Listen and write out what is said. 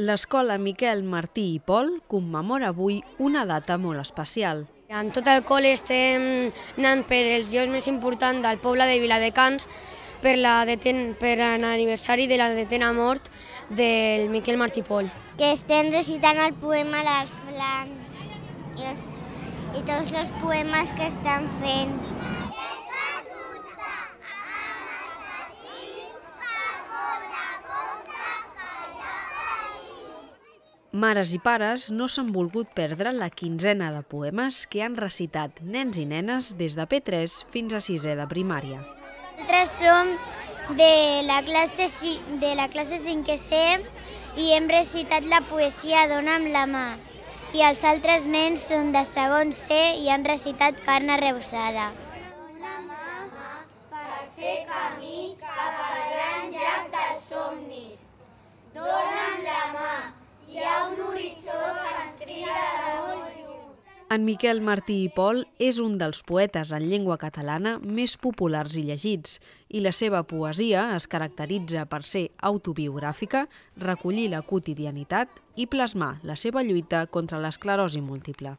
L'escola Miquel Martí i Pol commemora avui una data molt especial. En tot el col·le estem anant per els llocs més importants del poble de Viladecans per l'aniversari de la detena mort del Miquel Martí i Pol. Que estem recitant el poema l'Arslan i tots els poemes que estan fent. Mares i pares no s'han volgut perdre la quinzena de poemes que han recitat nens i nenes des de P3 fins a 6è de primària. Nosaltres som de la classe 5è i hem recitat la poesia Dona amb la mà. I els altres nens són de segon C i han recitat Carn arrebossada. Dona mà per fer camí cap al gran llac dels somnis. Dona'm la mà. Hi ha un horitzó que ens crida de molt lluny. En Miquel Martí i Pol és un dels poetes en llengua catalana més populars i llegits, i la seva poesia es caracteritza per ser autobiogràfica, recollir la quotidianitat i plasmar la seva lluita contra l'esclerosi múltiple.